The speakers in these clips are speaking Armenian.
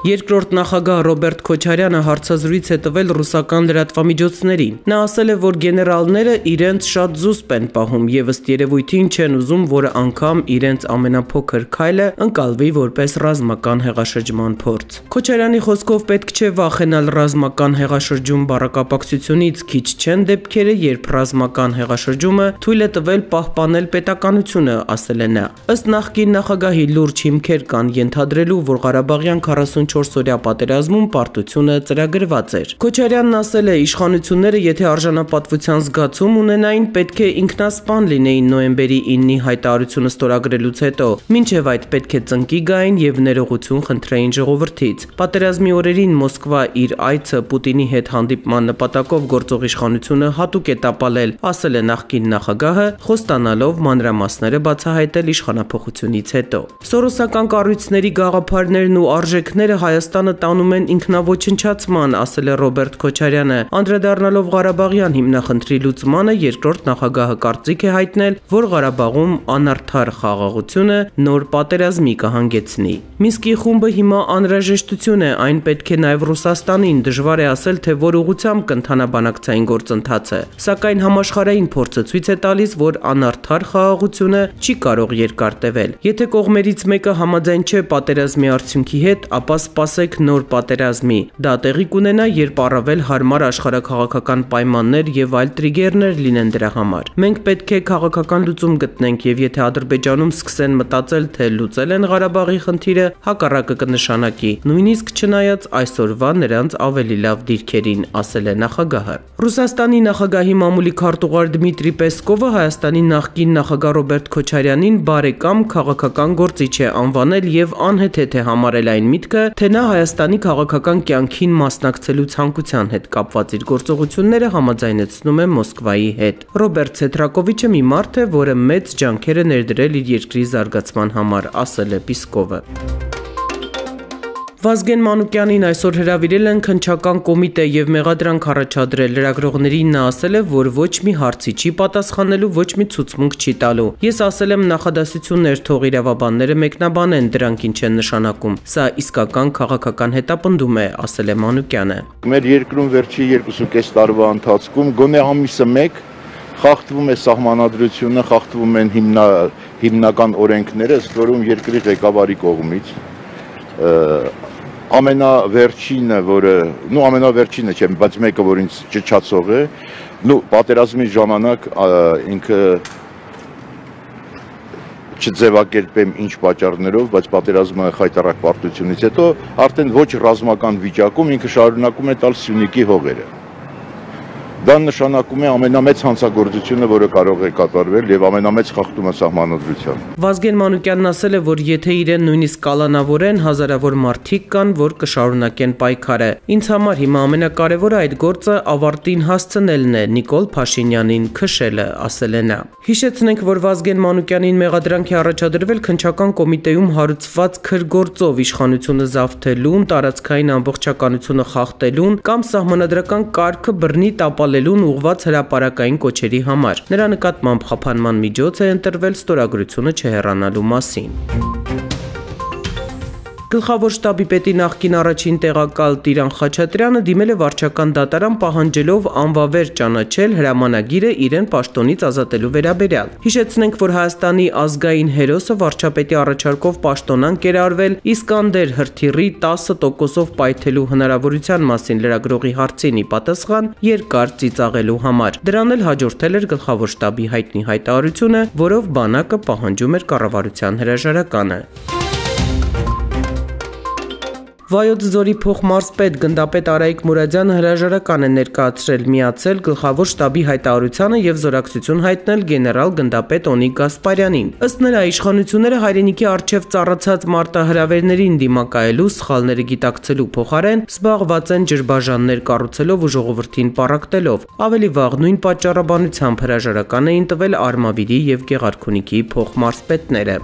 Երկրորդ նախագահ Ռոբերտ Քոչարյանը հարցազրույց է տվել ռուսական լրատվամիջոցներին։ Նա ասել է, որ գեներալները իրենց շատ զուսպ են պահում եւ ըստ երևույթին չեն ուզում, որ անգամ իրենց ամենափոքր քայլը ընկալվի որպես ռազմական հեղաշրջման փորձ։ Քոչարյանի խոսքով պետք չէ վախենալ ռազմական հեղաշրջում բառակապակցությունից, քիչ չեն դեպքերը, երբ ռազմական հեղաշրջումը թույլ է տվել պահպանել պետականությունը, ասել է նա։ Ըստ նախկին նախագահի լուրջ հիմքեր կան ենթադրելու, որ Ղարաբաղյան 44-օրյա պատերազմում պարտությունը ծրագրված էր։ Քոչարյանն ասել է, իշխանությունները, եթե արժանապատվության զգացում ունենային, պետք է ինքնասպան լինեին նոյեմբերի 9-ի հայտարարությունը ստորագրելուց հետո, մինչև այդ պետք է ծնկի գային եւ ներողություն խնդրեին ժողովրդից։ Պատերազմի օրերին Մոսկվա իր այցը Պուտինի հետ հանդիպման նպատակով գործող իշխանությունը հատուկ է տապալել, ասել է նախկին նախագահը, խոստանալով մանրամասները բացահայտել իշխանափոխությունից հետո։ Սորոսական կառույցների գաղափարներն ու արժեքները Հայաստանը տանում են ինքնաոչնչացման, ասել է Ռոբերտ Քոչարյանը, անդրադառնալով Ղարաբաղյան հիմնախնդրի լուծմանը երկրորդ նախագահը կարծիք է հայտնել, որ Ղարաբաղում անարդար խաղաղությունը նոր պատերազմի կհանգեցնի։ Մինսկի խումբը հիմա անհրաժեշտություն է, այն պետք է նաև Ռուսաստանին, դժվար է ասել, թե որ ուղղությամբ կընթանա բանակցային գործընթացը, սակայն համաշխարհային փորձը ցույց է տալիս, որ անարդար խաղաղությունը չի կարող երկար տևել։ Եթե կողմերից մեկը համաձայն չէ պատերազմի արդյունքի հետ, ապա սպասեք նոր պատերազմի։ Դա տեղի կունենա, երբ առավել հարմար աշխարհաքաղաքական պայմաններ եւ այլ տրիգերներ լինեն դրա համար։ Մենք պետք է քաղաքական լուծում գտնենք եւ եթե Ադրբեջանում սկսեն մտածել, թե լուծել են Ղարաբաղի խնդիրը, հակառակը կնշանակի, նույնիսկ չնայած այսօրվա նրանց ավելի լավ դիրքերին, ասել է նախագահը։ Ռուսաստանի նախագահի մամուլի քարտուղար Դմիտրի Պեսկովը Հայաստանի նախկին նախագահ Ռոբերտ Քոչարյանին բարեկամ քաղաքական գործիչ է անվանել եւ անհեթեթ է համարել այն միտքը, թե նա Հայաստանի քաղաքական կյանքին մասնակցելու ցանկության հետ կապված իր գործողությունները համաձայնեցնում է Մոսկվայի հետ։ Ռոբերտ Ցեթրակովիչը մի մարդ է, որը մեծ ջանքեր է ներդրել իր երկրի զարգացման համար, ասել է Պիսկովը։ Վազգեն Մանուկյանին այսօր հրավիրել են քննչական կոմիտե եւ մեղադրանք առաջադրել լրագրողներին նա ասել է, որ ոչ մի հարցի չի պատասխանելու, ոչ մի ցուցմունք չի տալու։ Ես ասել եմ նախադասություններ թող իրավաբանները մեկնաբանեն, դրանք ինչ են նշանակում։ Սա իսկական քաղաքական հետապնդում է, ասել է Մանուկյանը։ Մեր երկրում վերջի 2.5 տարվա ընթացքում գոնե ամիսը մեկ խախտվում է սահմանադրությունը, խախտվում են հիմնական օրենքները, ըստ որում երկրի ղեկավարի կողմից ամենավերջինը, որը, ամենավերջինը չէ, բայց մեկը, որ ինձ ճչացող է, պատերազմի ժամանակ ինքը չձևակերպեմ ինչ պատճառներով, բայց պատերազմը խայտառակ պարտությունից հետո արդեն ոչ ռազմական վիճակում ինքը շարունակում է տալ Սյունիքի հողերը։ Դա նշանակում է ամենամեծ հանցագործությունը, որը կարող է կատարվել եւ ամենամեծ խախտումը սահմանադրության։ Վազգեն Մանուկյանն ասել է, որ եթե իրեն նույնիսկ կալանավորեն, հազարավոր մարդիկ կան, որ կշարունակեն պայքարը։ Ինձ համար հիմա ամենակարևորը այդ գործը ավարտին հասցնելն է, Նիկոլ Փաշինյանին քշելը, ասել է նա։ Հիշեցնենք, որ Վազգեն Մանուկյանին մեղադրանք է առաջադրվել քննչական կոմիտեում հարուցված քրգործով իշխանությունը զավթելուն, տարածքային ամբողջականությունը խախտելուն կամ սահմանադրական կարգը բռնի տապալելուն ուղղված հրապարակային կոչերի համար։ Նրա նկատմամբ խափանման միջոց է ընտրվել ստորագրությունը չհեռանալու մասին։ Գլխավոր շտաբի պետի նախկին առաջին տեղակալ Տիրան Խաչատրյանը դիմել է վարչական դատարան պահանջելով անվավեր ճանաչել հրամանագիրը իրեն պաշտոնից ազատելու վերաբերյալ։ Հիշեցնենք, որ Հայաստանի ազգային հերոսը վարչապետի առաջարկով պաշտոնանկ էր արվել Իսկանդեր հրթիռի 10%-ով պայթելու հնարավորության մասին լրագրողի հարցին ի պատասխան երկար ծիծաղելու համար։ Դրան էլ հաջորդել էր գլխավոր շտաբի հայտնի հայտարարությունը, որով բանակը պահանջում էր կառավարության հրաժարականը։ Վայոց ձորի փոխմարզպետ գնդապետ Արայիկ Մուրադյանը հրաժարական է ներկայացրել միացել գլխավոր շտաբի հայտարարությանը եւ զորակցություն հայտնել գեներալ գնդապետ Օնիկ Գասպարյանին։ Ըստ նրա իշխանությունները հայրենիքի արչեւ ծառացած մարտահրավերներին դիմակայելու սխալները գիտակցելու փոխարեն զբաղված են ջրբաժաններ կառուցելով ու ժողովրդին պառակտելով։ Ավելի վաղ նույն պատճառաբանությամբ հրաժարական էին տվել Արմավիրի եւ Գեղարքունիքի փոխմարզպետները։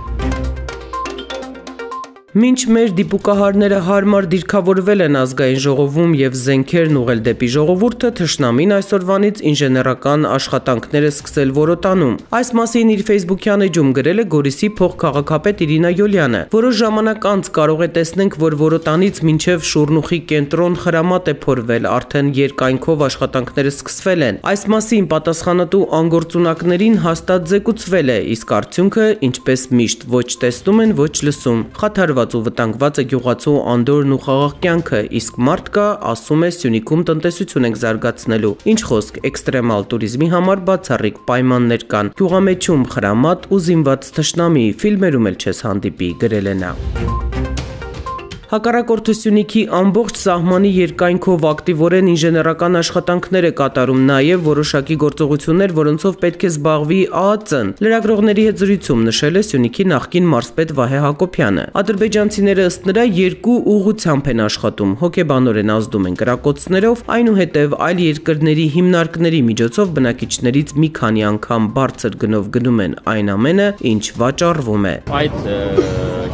Մինչ մեր դիպուկահարները հարմար դիրքավորվել են ազգային ժողովում եւ զենքերն ուղղել դեպի ժողովուրդը, թշնամին այսօրվանից ինժեներական աշխատանքներ է սկսել որոտանում։ Այս մասին իր Facebook-յան էջում գրել է Գորիսի փոխքաղաքապետ Իրինա Յոլյանը։ Որոշ ժամանակ անց կարող է տեսնենք, որ որոտանից մինչև Շուրնուխի կենտրոն խրամատ է փորվել, արդեն երկայնքով աշխատանքները սկսվել են։ Այս մասին պատասխանատու անգործունակներին հաստատ զեկուցվել է, իսկ արդյունքը, ինչպես միշտ, ոչ տեսնում են, ոչ լսում։ Խաթարված ու վտանգված է գյուղացու անդորն ու խաղաղ կյանքը, իսկ մարդ կա, ասում է, Սյունիքում տնտեսություն ենք զարգացնելու։ Ինչ խոսք, էքստրեմալ туриզմի համար բացառիկ պայմաններ կան։ Գյուղամեջում խրամատ ու զինված թշնամի, ֆիլմերում էլ չես հանդիպի, գրել է նա։ Հակառակորդը Սյունիքի ամբողջ սահմանի երկայնքով ակտիվորեն ինժեներական աշխատանքներ է կատարում, նաև որոշակի գործողություններ, որոնցով պետք է զբաղվի ԱԱԾ-ն։ Լրագրողների հետ զրույցում նշել է Սյունիքի նախկին մարզպետ Վահե Հակոբյանը։ Ադրբեջանցիները ըստ նրա երկու ուղղությամբ են աշխատում, հոգեբանորեն ազդում են կրակոցներով, այնուհետև այլ երկրների հիմնարկների միջոցով բնակիչներից մի քանի անգամ բարձր գնով գնում են այն ամենը, ինչ վաճառվում է։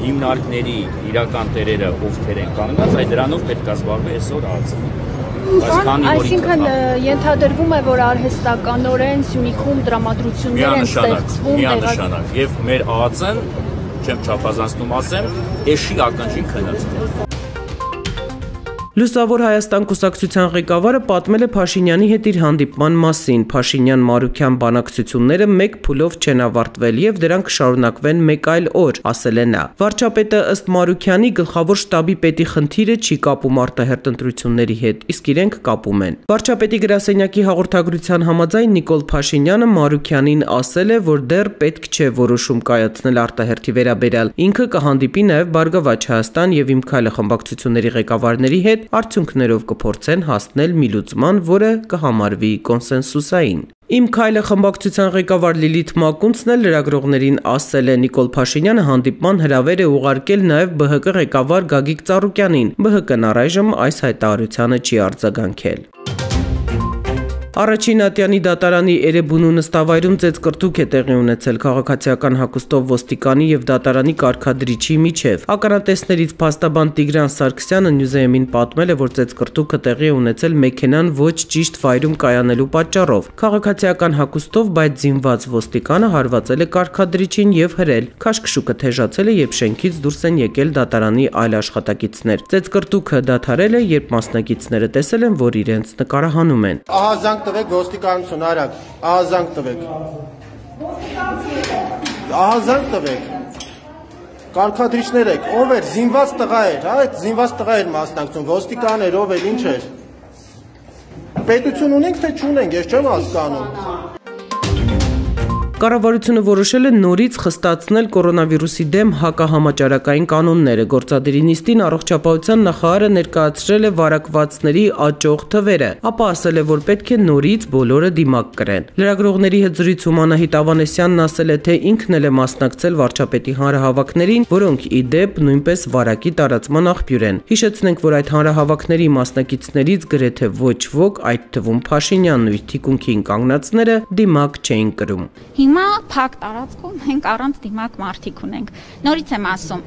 Հիմնարկների իրական տերերը ովքեր են կանգնած, այդ դրանով պետք է զբաղվի այսօր ԱԱԾ-ն։ Այսինքն ենթադրվում է, որ արհեստականորեն Սյունիքում տրամադրություններ են ստեղծվում միանշանակ, եւ մեր ԱԱԾ-ն, չեմ չափազանցնում ասեմ, էշի ակնճին քննածում։ Լուսավոր Հայաստան կուսակցության ղեկավարը պատմել է Փաշինյանի հետ իր հանդիպման մասին։ Փաշինյան-Մարուքյան բանակցությունները մեկ փուլով չեն ավարտվել եւ դրանք կշարունակվեն մեկ այլ օր, ասել է նա։ Վարչապետը ըստ Մարուքյանի գլխավոր շտաբի պետի խնդիրը չի կապում արտահերտ ընտրությունների հետ, իսկ իրենք կապում են։ Վարչապետի գրասենյակի հաղորդագրության համաձայն Նիկոլ Փաշինյանը Մարուքյանին ասել է, որ դեռ պետք չէ որոշում կայացնել արտահերթի վերաբերյալ։ Ինքը կհանդիպի նաեւ Բարգավաճ Հայաստան եւ Իմ քայլը խմբակցությունների ղեկավարների հետ, արդյունքներով կփորձեն հասնել մի լուծման, որը կհամարվի կոնսենսուսային։ Իմ քայլը խմբակցության ղեկավար Լիլիթ Մակունցն էլ լրագրողներին ասել է Նիկոլ Փաշինյանը հանդիպման հրավեր է ուղարկել նաև ԲՀԿ ղեկավար Գագիկ Ծառուկյանին։ ԲՀԿ-ն առայժմ այս հայտարարությանը չի արձագանքել։ Առաջին Ատյանի դատարանի Էրեբունու նստավայրում ծեծկռտուք է տեղի ունեցել քաղաքացիական հագուստով ոստիկանի եւ դատարանի կարգադրիչի միջև։ Ականատեսներից փաստաբան Տիգրան Սարգսյանը Նյուզեյմին պատմել է, որ ծեծկռտուքը տեղի է ունեցել մեքենան ոչ ճիշտ վայրում կայանելու պատճառով։ Քաղաքացիական հագուստով, բայց զինված ոստիկանը հարվածել է կարգադրիչին եւ հրել։ Քաշքշուկը թեժացել է, երբ շենքից դուրս են եկել դատարանի այլ աշխատակիցներ։ Ծեծկռտուքը դադարել է, երբ մասնակիցները տեսել են, որ իրենց նկարահանում են։ Տվեք ոստիկանություն արագ, ահազանգ տվեք։ Ահազանգ տվեք։ Կարգադրիչներ եք, ով էր, զինված տղա էր, հա, այդ զինված տղա էր մասնակցում, ոստիկան էր, ով էր, ինչ էր։ Պետություն ունենք, թե չունենք, ես չեմ հասկանում։ Կառավարությունը որոշել է նորից խստացնել կորոնավիրուսի դեմ հակահամաճարակային կանոնները։ Գործադիրի նիստին առողջապահության նախարարը ներկայացրել է վարակվածների աճող թվերը, ապա ասել է, որ պետք է նորից բոլորը դիմակ կրեն։ Լրագրողների հետ զրույցում Անահիտ Ավանեսյանն ասել է, թե ինքն էլ է մասնակցել վարչապետի հանրահավաքներին, որոնք ի դեպ նույնպես վարակի տարածման աղբյուր են։ Հիշեցնենք, որ այդ հանրահավաքների մասնակիցներից գրեթե ոչ ոք, այդ թվում Փաշինյանն ու իր թիկունքին կանգնածները, դիմակ չէին կրում։ Հիմա փակ տարածքում մենք առանց դիմակ մարդիկ ունենք։ Նորից եմ ասում,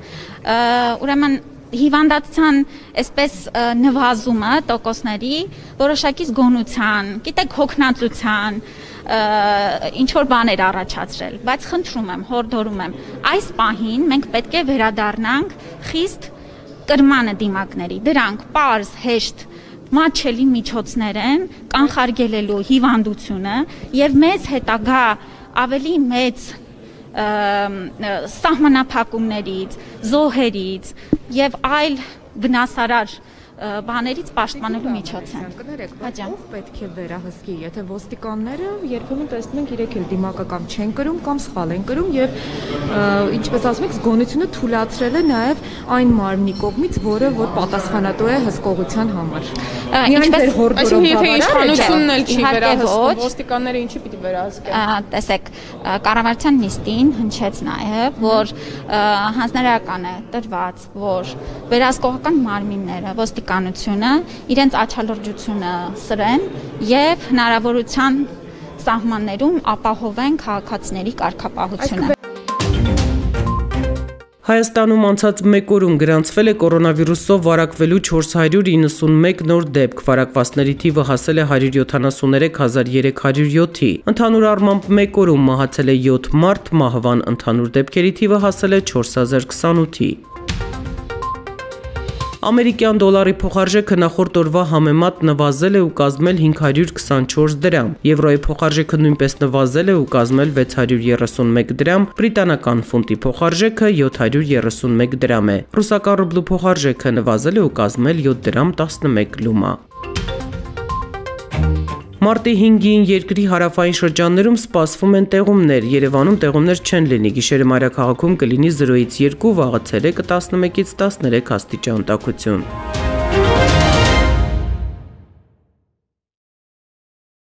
ուրեմն հիվանդացան այսպես նվազումը տոկոսների որոշակի զգոնության, գիտեք, հոգնածության, ինչ որ բաներ առաջացրել, բայց խնդրում եմ, հորդորում եմ, այս պահին մենք պետք է վերադառնանք խիստ կրմանը դիմակների, դրանք պարզ, հեշտ մատչելի միջոցներ են կանխարգելելու հիվանդությունը եւ մեզ հետագա ավելի մեծ սահմանափակումներից, զոհերից եւ այլ վնասարար բաներից պաշտպանելու միջոց են։ Կներեք, բայց ով պետք է վերահսկի, եթե ոստիկանները երբեմն տեսնում ենք իրենք էլ դիմակակամ չեն կրում կամ սխալ են կրում եւ ինչպես ասում եք, զգոնությունը թույլատրել է նաեւ այն մարմնի կողմից, որը որ պատասխանատու է հսկողության համար։ Այսինքն եթե իշխանությունն էլ չի վերահսկում, ոստիկանները ինչի պիտի վերահսկեն։ Տեսեք, կառավարության նիստին հնչեց նաեւ, որ հանձնարարական է տրված, որ վերահսկողական մարմինները ոստիկանությունը իրենց աչալրջությունը սրեն եւ հնարավորության սահմաններում ապահովեն քաղաքացիների կարգապահությունը։ Հայաստանում անցած մեկ օրում գրանցվել է կորոնավիրուսով վարակվելու 491 նոր դեպք, վարակվածների թիվը հասել է 173,307-ի։ Ընդհանուր առմամբ մեկ օրում մահացել է 7 մարդ, մահվան ընդհանուր դեպքերի թիվը հասել է 4028-ի։ Ամերիկյան դոլարի փոխարժեքը նախորդ օրվա համեմատ նվազել է ու կազմել 524 դրամ, եվրոյի փոխարժեքը նույնպես նվազել է ու կազմել 631 դրամ, բրիտանական ֆունտի փոխարժեքը 731 դրամ է, ռուսական ռուբլու փոխարժեքը նվազել է ու կազմել 7 դրամ 11 լումա։ Մարտի 5-ին երկրի հարավային շրջաններում սպասվում են տեղումներ, Երևանում տեղումներ չեն լինի, գիշերը մայրաքաղաքում կլինի 0-ից 2, վաղը ցերեկը 11-ից 13 աստիճան տաքություն։